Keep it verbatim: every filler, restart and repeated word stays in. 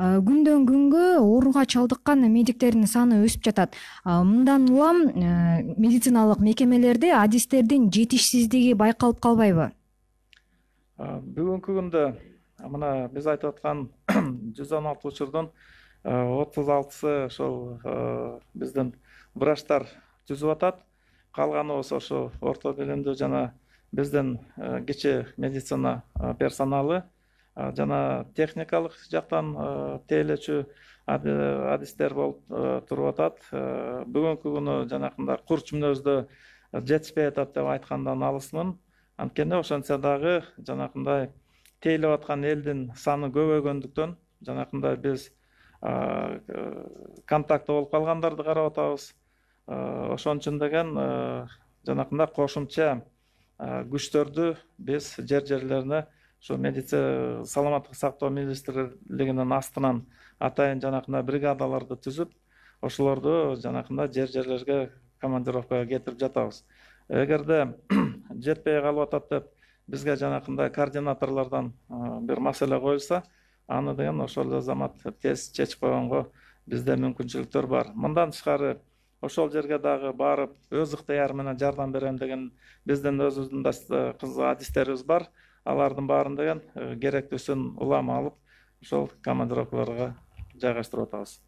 күндөн күнгө ооруга чалдыккан медиктердин саны өсүп жатат. Мындан улам медициналык мекемелерде адистердин жетишсиздиги байкалып калбайбы? Бүгүнкү күндө мына биз айтып аткан жүз он алты учурдун отуз алтысы ошол биздин врачтар түзүп атат. Калганы болсо ошо орто билимдүү жана биздин кичи медицина персоналы жана техникалык жактан тейлөөчү адистер болуп туруп атат. Бүгүнкү күнү жанакындай курч мүнөздө жетишпей атат деп айткандан алысмын. Анткени ошентсе дагы жанакындай тейлеп аткан элдин саны көбөйгөндүктөн жанакындай биз контакты болуп калгандарды карап атабыз. Ошон үчүн деген жанакындай кошумча күчтөрдү биз жер жерлерине ушу медицина саламаттык сактоо министрлигинин астынан атайын жанакындай бригадаларды түзүп, ошолорду жанакындай жер жерлерге командировкага кетирип жатабыз. Эгерде жетпей калып атат деп бизге жанакындай координаторлордон бир маселе коюлса, аны деген ошол эле замат тез чечип койгонго бизде мүмкүнчүлүктөр бар. Мындан тышкары ошол жерге дагы барып өз ыктыяры менен жардам берем деген биздин өзүбүздүн да кыз адистерибиз бар. Алардын баарын деген керектүүсүн улам алып ошол командировкаларга жайгаштырып атабыз.